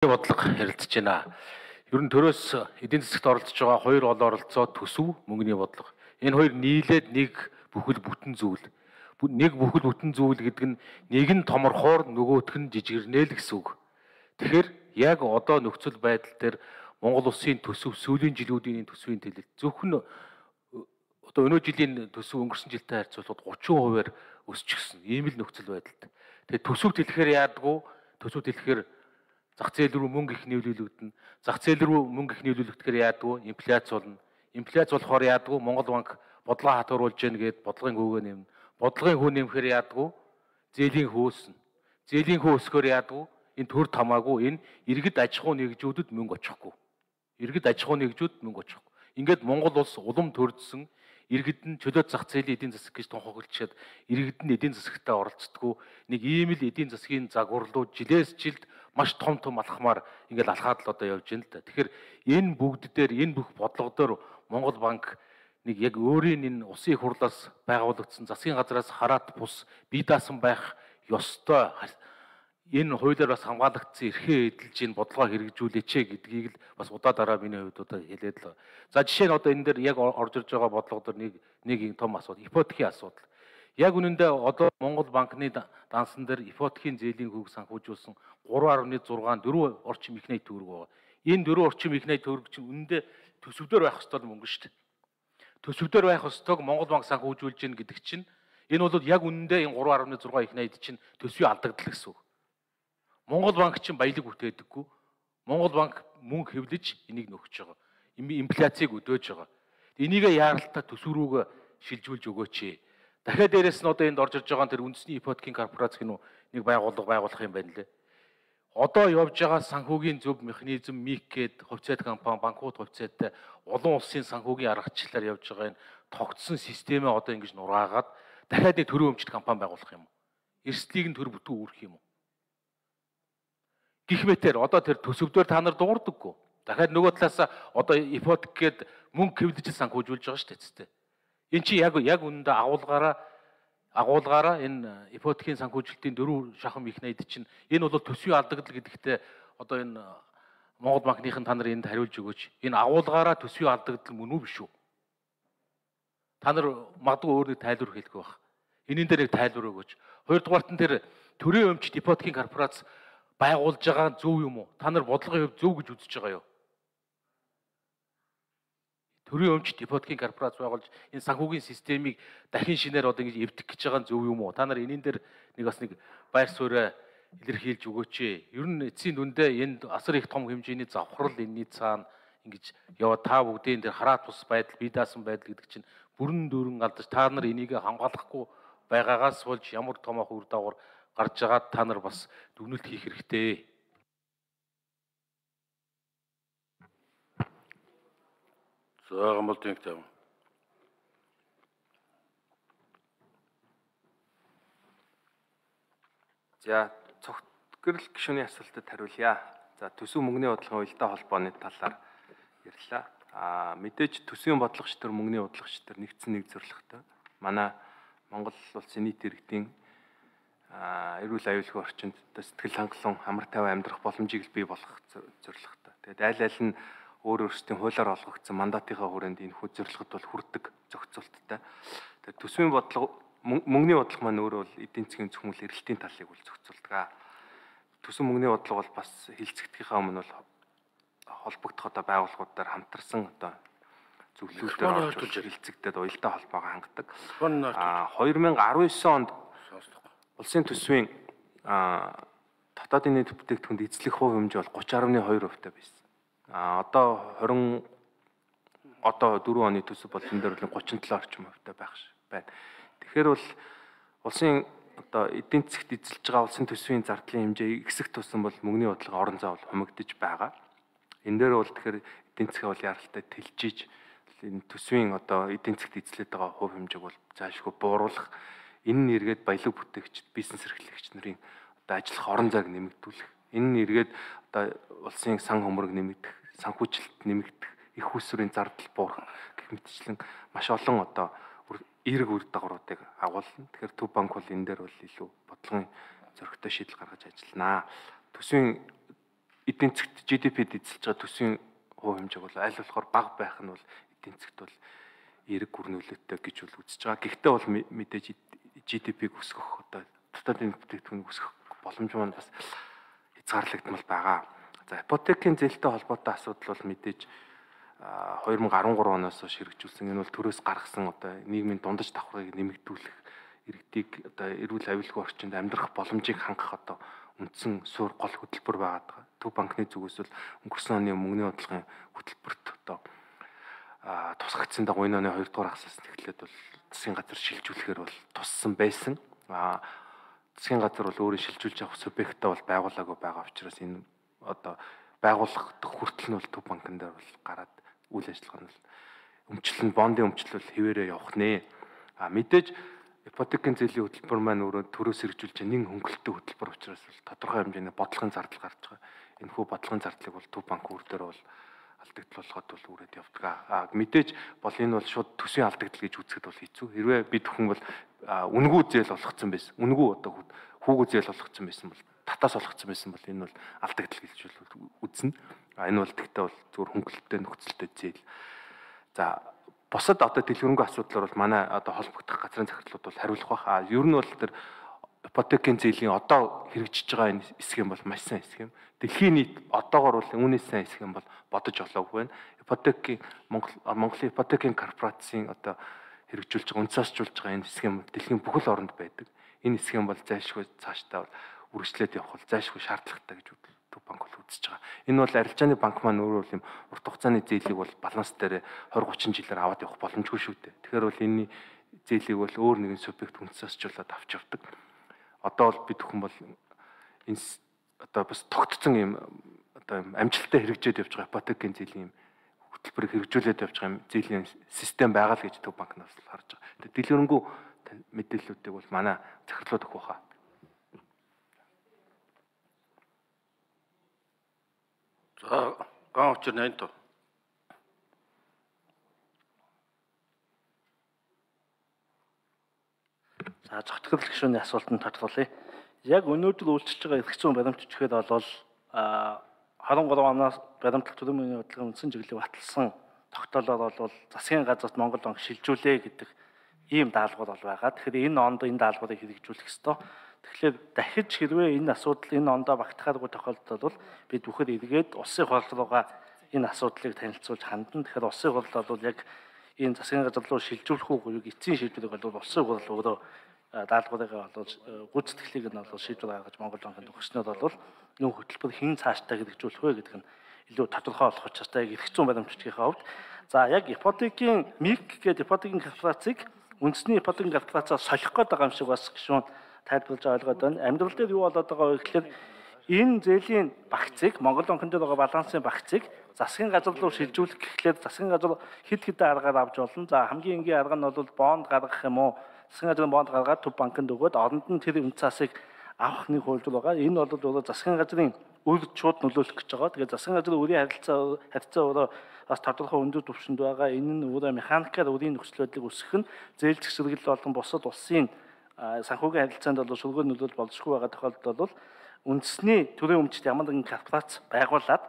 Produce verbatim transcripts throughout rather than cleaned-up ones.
бодлого ярилцж байна. Ер нь төрөөс эдийн засагт оролцож байгаа хоёр ол оролцоо төсөв, мөнгөний бодлого. Энэ хоёр нийлээд нэг бүхэл бүтэн зүйл. Нэг бүхэл бүтэн зүйл гэдэг нь нэг нь томорхоор нөгөөх нь жижигэрнэ л гэсэн үг. Тэгэхээр яг одоо нөхцөл байдал дээр Монгол улсын төсөв, сүүлийн жилүүдийн төсвийн төлөлт зөвхөн одоо өнөө жилийн төсөв өнгөрсөн жилтэй харьцуулбал гучин хувиар өсчихсөн. Ийм л нөхцөл байдалтай. Тэгээд төсөв дэлгэхээр яадгүй, төсөв дэлгэхээр зах зээл рүү мөнгө их нийлүүлэгдэнэ. Зах зээл рүү мөнгө их нийлүүлэгдэхээр яадгүй, инфляц болно. Инфляц болохоор яадгүй, Монгол банк бодлого хатууруулж гэнэ гэд бодлогын хөвгөө нэмнэ. Бодлогын хөө нэмэхээр яадгүй, зээлийн хөөснө. Зээлийн хөө өсгөхөөр яадгүй, энэ төр тамаагүй, энэ иргэд аж ахуй нэгжүүдэд мөнгө очихгүй. Иргэд аж ахуй нэгжүүд мөнгө очихгүй. Ингээд Монгол улс улам төрдсөн, иргэд нь чөлөөт зах зээлийн эдийн засаг гэж тунхаглалчаад иргэд нь эдийн засагтаа оролцдоггүй нэг ийм л эдийн засгийн загварлуу жилээс жилд маш том том алхмаар ингээл алхаад л одоо явж байна л да. Тэгэхээр энэ бүгд дээр энэ бүх бодлого дээр Монгол банк нэг яг өөрийн энэ улсын их хурлаас байгуулагдсан засгийн газраас хараат бус бие даасан байх ёстой энэ хуулиар бас хамгаалагдсан эрхээ эдэлж энэ бодлогоо хэрэгжүүлээч гэдгийг л бас удаа дараа миний хувьд одоо хэлээд л. За жишээ нь одоо энэ дээр яг орж ирж байгаа бодлого дээр нэг нэг том асуудал, ипотекийн асуудал. Яг үнэндээ одоо Монгол банкны дансан дээр ипотекийн зээлийн хүүг санхүүжүүлсэн гурван гаруй зургаан дөрвөн орчим их найт төгрөг байгаа. Энэ дөрвөн орчим их найт төгрөг чинь үнэндээ төсөвдөр байх ёстой мөнгө шүү дээ. Төсөвдөр байх ёстойг Монгол банк санхүүжүүлж гин гэдэг чинь энэ бол яг үнэндээ энэ гурван гаруй зургаан их найт чинь төсвийн алдагдал гэсэн үг. Монгол банк чинь баялаг бүтээдэггүй. Монгол банк мөнгө хэвлэж энийг нөхөж байгаа. Инфляцийг өдөөж байгаа. Энийгээ яаралтай төсөв рүүгээ шилжүүлж өгөөч. Дахиад дээрэс нь одоо энд орж ирж байгаа тэр үндэсний ипотекийн корпорац гэнэ нэг байгууллага байгуулах юм байна лээ. Одоо явж байгаа санхүүгийн зөв механизм МИК гээд хувьцаат компани, банкуд хувьцаатай олон улсын санхүүгийн аргачлалаар явж байгаа энэ тогтсон системээ одоо ингэж нураагаад дахиад нэг төрийн өмчт компани байгуулах юм уу? Эрсдлийг нь төр бүтэн үүрэх юм уу? Гэх мэтэр одоо тэр төсөвдөр та нар дуурдаггүй. Дахиад нөгөө талаас одоо ипотек гээд мөнгө хэвлэж санхүүжүүлж байгаа шүү дээ. Энд чи яг яг үнэндээ агуулгаараа агуулгаараа энэ ипотекийн санхүүжилтийн дөрвөн шахам их найд чинь энэ бол төсвийн алдагдал гэдэгтээ одоо энэ Монгол банкныхын та нар энд хариулж өгөөч. Энэ агуулгаараа төсвийн алдагдал мөн үү биш үү? Та нар магадгүй өөр нэг тайлбар хэлэх байх. Энийн дээр нэг тайлбар өгөөч. Хоёрдугаарт нь тэр төрийн өмчт ипотекийн корпорац байгуулж байгаа зөв юм уу? Та нар бодлогын хувьд зөв гэж үзэж байгаа юу? Төрийн өмчт ипотекийн корпорац байгуулж энэ санхүүгийн системийг дахин шинээр одоо ингэж эвдэх гэж байгаа зөв юм уу? Та нар энийн дээр нэг бас нэг байр суурь илэрхийлж өгөөч. Ер нь эцсийн дүндээ энд асар их том хэмжээний завхрал энэний цаана ингэж яваа та бүгдийн дээр хараат бус байдал, бие даасан байдал гэдэг чинь бүрэн дүүрэн алдаж та нар энийг хамгаалахгүй байгаагаас болж ямар томоохон үр дагавар гарч байгаа та нар бас дүгнэлт хийх хэрэгтэй. За гомолтын тавь. За цогцгэрэл гишүүний асуултад хариулъя. За төсөв мөнгөний бодлогын уялдаа холбооны талаар ярьлаа. А мэдээж төсвийн бодлогоч төр мөнгөний бодлогоч төр нэгдсэн нэг зорилготой. Манай Монгол улсын нийт иргэдийн эрүүл аюулгүй орчинд сэтгэл хангалуун амар тайван амьдрах боломжийг бий болгох зорилготой. Тэгээд аль аль нь өөр өөрсдийн хуулиар олгогдсон мандатынхаа хүрээнд энэ хүү зорилгот бол хүрдэг зохицуулттай. Тэгээд төсвийн бодлого мөнгөний бодлого маань өөрөө бол эдийн засгийн зөвхөн эрэлтийн талыг бол зохицуулдаг. Төсөв мөнгөний бодлого бол бас хилцэгдэхийнхаа өмнө бол холбогдох одоо байгууллагуудаар хамтарсан одоо зөвлөлтөөр орж хилцэгдээд уялдаа холбоогоо хангадаг. А хоёр мянга арван девять онд улсын төсвийн дотоодын нийт бүтээгдэхүүнд эзлэх хувь хэмжээ бол гучин гаруй хоёр хувьтай байсан. А одоо двадцать одоо дөрвөн оны төсөв бол энэ дээр бол гучин долоо орчим хувьтай байх байна. Тэгэхээр бол улсын одоо эдийн засгт эзэлж байгаа улсын төсвийн зардлын хэмжээ ихсэх тусам бол мөнгөний бодлого орон зай бол хумигдж байгаа. Энэ дээр бол тэгэхээр эдийн засгаа бол яралтай тэлжиж энэ төсвийн одоо эдийн засгт эзлээд байгаа хувь хэмжээг бол заашгүй бууруулах, энэ нь эргээд баялаг бүтээгчд, бизнес эрхлэгч нарын одоо ажиллах орон зайг нэмэгдүүлэх, энэ нь эргээд одоо улсын сан хөмрөг нэмэгдэх, санхүүжилт нэмэгдэх, их усрын зардал буурах гэх мэтчлэн маш олон одоо эерэг үр дагавруудыг агуулна. Тэгэхээр Төв банк бол энэ дээр бол илүү бодлогын зөрөгтэй шийдэл гаргаж ажилланаа. Төсвийн эдийн засгт жи ди пи-д эзэлж байгаа төсвийн хувь хэмжээг бол аль болохоор бага байх нь бол эдийн засгт бол эерэг гүрнүүлэлттэй гэж бол үзэж байгаа. Гэхдээ бол мэдээж жи ди пиг өсгөх одоо дотоодын бүтээгдэхүүн өсгөх боломж маань бас хязгаарлагдмал байгаа. За ипотекийн зээлтэй холбоотой асуудал бол мэдээж хоёр мың арван гурав оноос хойш хэрэгжүүлсэн. Энэ бол төрөөс гаргасан одоо нийгмийн дундаж давхрыг нэмэгдүүлэх, иргэдийг одоо эрүүл аюулгүй орчинд амьдрах боломжийг хангах одоо үндсэн суурь гол хөтөлбөр байгаа. Төв банкны зүгээс бол өнгөрсөн оны мөнгөний бодлогын хөтөлбөрт одоо тусгагдсан дагуу энэ оны хоёрдугаар хагасаас эхлээд бол засгийн газар шилжүүлэхээр бол туссан байсан. А засгийн газар бол өөрөө шилжүүлж авах субъектаа бол байгуулаагүй байгаа учраас энэ одоо байгуулах хүртэл нь бол төв банкн дээр бол гараад үйл ажиллагаа нь бол өмчлөн бондын өмчлөл хэвээрээ явах нэ. А мэдээж ипотекийн зээлийн хөтөлбөр маань өөрөө төрөөс хэрэгжүүлж нэн хөнгөлөлтөй хөтөлбөр учраас бол тодорхой хэмжээний бодлогын зардал гарч байгаа. Энэ хүү бодлогын зардлыг бол төв банк үр дээр бол алдагдал болгоод бол үрээд явдаг. А мэдээж бол энэ бол шууд төсвийн алдагдал гэж үзэхэд бол хэцүү. Хэрвээ бид хүн бол үнгүү зээл болгоцсон байсан. Үнгүү одоо хүүгүү зээл болгоцсон байсан бол татаас болгоцсон байсан бол энэ бол алдагдал гэж үзнэ. А энэ бол тэгтээ бол зөвхөн хөнгөлөлттэй нөхцөлтэй зээл. За бусад одоо дэлгэрэнгүй асуудлаар бол манай одоо холбогдох газрын захирлууд бол хариулах байх. А ер нь бол тэр ипотекийн зээлийн одоо хэрэгжиж байгаа энэ хэсэг юм бол маш сайн хэсэг юм. Дэлхийн нийт одоогоор бол үүнээс сайн хэсэг юм бол бодож олоогүй байна. Ипотекийн Монгол Монголын ипотекийн корпорацийн одоо хэрэгжүүлж байгаа, үнцаасжуулж байгаа энэ хэсэг юм дэлхийн бүхэл оронд байдаг. Энэ хэсэг юм бол зайлшгүй цаашдаа бол үргэлжлээд явах бол зайлшгүй шаардлагатай гэж төв банк бол үзэж байгаа. Энэ бол арилжааны банк маань өөрөө юм урт хугацааны зээлийг бол баланс дээр двадцать тридцать жилээр аваад явах боломжгүй шүү дээ. Тэгэхээр бол энэний зээлийг бол өөр нэгэн субъект үнцаасжуулаад авч явдаг. Одоо бол бид хүн бол энэ одоо бас тогтцсон юм одоо юм амжилттай хэрэгжээд явж байгаа ипотекийн зээлийн юм хөтөлбөрийг хэрэгжүүлээд явж байгаа юм зээлийн систем байгаа л гэж төв банкнаас харж байгаа. Тэгээд дэлгэрэнгүй мэдээллүүдийг бол манай захирлууд өгөх баха. За ган учир нэнто. За зохицол гишүүний асуултанд тодорхойлъя. Яг өнөөдөр үйлчилж байгаа эрх зүйн баримт бичгээд бол двадцать три оноос баримтлах төлөв мөнгөний бодлогын үндсэн чиглэлийг баталсан тогтоолоор бол засгийн газарт Монгол банк шилжүүлээ гэдэг ийм даалгавар бол байгаа. Тэгэхээр энэ онд энэ даалгаврыг хэрэгжүүлэх ёстой. Тэгэхээр дахиж хэрвээ энэ асуудал энэ ондоо багтахааргүй тохиолдолд бол бид бүхэн эргээд улсын хурал руугаа энэ асуудлыг танилцуулж хандна. Тэгэхээр улсын хурал бол яг энэ засгийн газар руу шилжүүлэх үгүй эцсийн шийдвэрийг бол улсын хурал өөрөө даалгаврыг бол гүйцэтгэлийг нь бол шийдвэр гаргаж Монгол банкнд өгснөд бол нөх хөтөлбөр хэн цаашдаа хэрэгжүүлэх вэ гэдэг нь илүү тодорхой болох учраас яг эрх зүйн баримтчдын хувьд за яг ипотекийн МИК гэдэг ипотекийн корпорацийг үндэсний ипотекийн корпорацаас солих гээд байгаа юм шиг бас гишүүн тайлбарлаж ойлгоод байна. Амьдрал дээр юу болоод байгаа вэ гэхээр энэ зээлийн багцыг Монгол банкнд байгаа балансын багцыг засгийн газар руу шилжүүлэх гэхлээр засгийн газар хэд хэдэн аргаар авч болно. За хамгийн энгийн арга нь бол бонд гаргах юм уу? Засгийн газрын бонд гаргаад төв банкнд өгөөд оронд нь тэр үнцаасыг авах нэг хуулбар байгаа. Энэ бол өөрөө засгийн газрын үр шууд нөлөөлөх гэж байгаа. Тэгээд засгийн газрын үрийн харилцаа харилцаа өөрөө бас тодорхой өндөр түвшинд байгаа. Энэ нь өөрөө механикаар үрийн нөхцөл байдлыг өсгөх нь зээл зэгсрэгэл болон бусад улсын санхүүгийн харилцаанд бол шулгуур нөлөөлөл болзошгүй байгаа тохиолдолд бол үндэсний төрийн өмчт ямар нэгэн корпорац байгуулад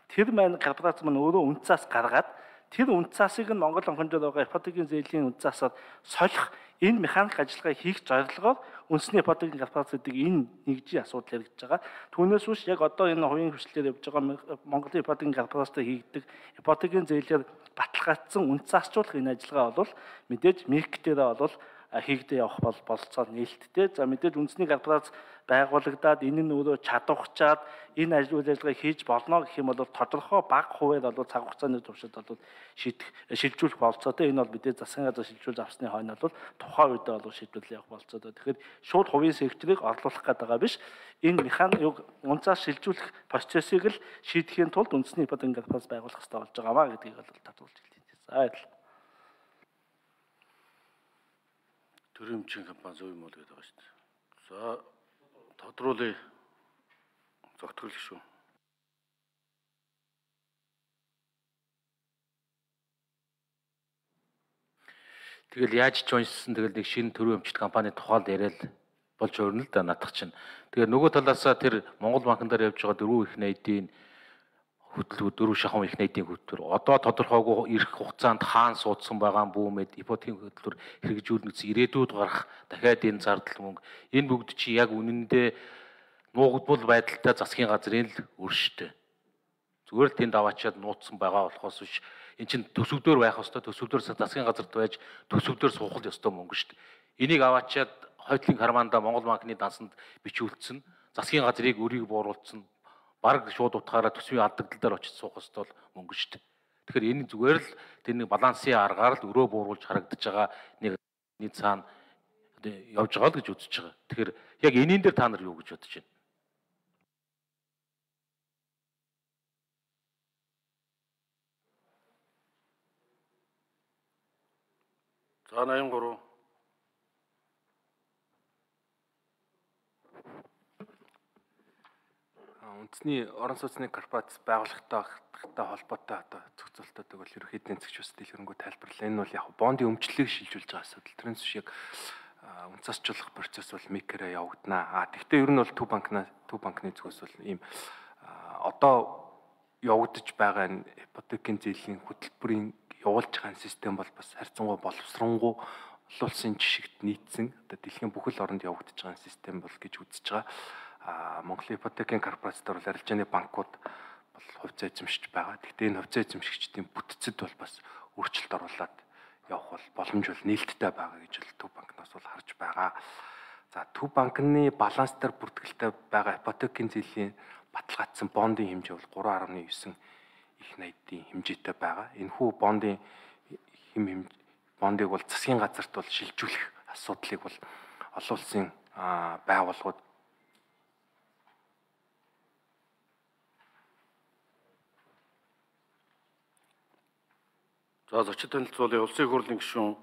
тэр маань корпорац маань өөрөө үнцаас гаргаад тэр үнцаасыг нь Монгол банкнд байгаа ипотекийн зээлийн үнцаасаар солих энэ механик ажиллагааг хийх зорилгоор үндэсний ипотекийн корпорац гэдэг энэ нэгжийн асуудал яригдж байгаа. Түүнээс биш яг одоо энэ хувийн хвшлээр явж байгаа Монголын ипотекийн корпорацтай хийгдэг ипотекийн зээлээр баталгаажсан үнцаасчлах энэ ажиллагаа бол мэдээж МИК дээр бол хийгдээ явах бол болцоод нээлттэй. За мэдээж үндэсний корпорац байгуулагдаад энэ нь өөрөө чадварчаад энэ ажил үйл ажиллагааг хийж болно гэх юм бол тодорхой бага хуваар бол цаг хугацааны туршид бол шийдэх шилжүүлэх болцоотой. Энэ бол мэдээж засгийн газар шилжүүлж авсны хойно бол тухайн үед бол шийдвэрлэл явах болцоотой. Тэгэхээр шууд хувийн секторыг орлуулах гэдэг байгаа биш. Энэ механик унцаас шилжүүлэх процессыг л шийдэхийн тулд үндэсний ипотекийн корпорац байгуулах хэрэгтэй болж байгаамаа гэдгийг бол татуулж хэлье. За баярлалаа. Төрийн өмчийн компани зөв юм уу гэдэг байгаа шүү дээ. За тодруулъя. Зогтгол шүү. Тэгэл яаж ч уншсан тэгэл нэг шинэ төрийн өмчт компани тухайд яриад болж өрнө л да надах чинь. Тэгээ нөгөө талаасаа тэр Монгол банкн дээр явж байгаа дөрвөн их найдын хөтөлбөр дөрвөн шахам их найдын хөтөлбөр одоо тодорхойгүй ирэх хугацаанд хаана суудсан байгаа бүүмэд ипотекийн хөтөлбөр хэрэгжүүлнэ гэсэн ирээдүйд гарах дахиад энэ зардал мөнгө энэ бүгд чи яг үнэндээ нуугдмал байдалтай засгийн газрын л өршөлтэй. Зүгээр л тэнд аваачаад нууцсан байгаа болохоос биш эн чин төсөвдөр байх ёстой төсөвдөр засгийн газарт байж төсөвдөр суухал ёстой мөнгө шүү дээ. Энийг аваачаад хойтлын карманда Монгол банкны дансанд бичүүлсэн засгийн газрыг өрийг бууруулсан бараг шууд утгаараа төсвийн алдагдал дээр очиж суух ёстой мөнгө шүү дээ. Тэгэхээр энэ зүгээр л тэр нэг балансын аргаар л өрөө бууруулж харагдаж байгаа нэг нэг цаана явж байгаа л гэж үзэж байгаа. Тэгэхээр яг энийн дээр та нар юу гэж бодож байна? За найман гурав. Үндэсний орон сууцны корпорац байгууллагатай холбоотой одоо зохицуултуудыг бол ерөнхийдөө эзэгч бас дэлгэрэнгүй тайлбарлаа. Энэ бол яг бондын өмчлөлийг шилжүүлж байгаа асуудал. Тэрнээс биш яг үнцасчлах процесс бол микрээр явагдана. А тэгвэл ер нь бол төв банкнаас төв банкны зүгээс бол ийм одоо явагдаж байгаа энэ ипотекийн зээлийн хөтөлбөрийн явуулж байгаа систем бол бас харьцангуй боловсронгуй олон улсын жишгт нийцсэн одоо дэлхийн бүхэл оронд явагдаж байгаа систем бол гэж үзэж байгаа. А Монголын ипотекийн корпорацтар бол арилжааны банкуд бол хувьцаа эзэмшиж байгаа. Гэхдээ энэ хувьцаа эзэмшигчдийн бүтцэд бол бас өөрчлөлт оруулаад явах бол боломж бол нээлттэй байгаа гэж бол төв банкнаас бол харж байгаа. За төв банкны баланс дээр бүртгэлтэй байгаа ипотекийн зээлийн баталгаажсан бондын хэмжээ бол гурван гаруй девять их найдын хэмжээтэй байгаа. Энэхүү бондын хэм хэмжээ бондыг бол засгийн газарт бол шилжүүлэх асуудлыг бол олон улсын байгууллагууд За зочид танилцуулъя улсын хурлын гишүүн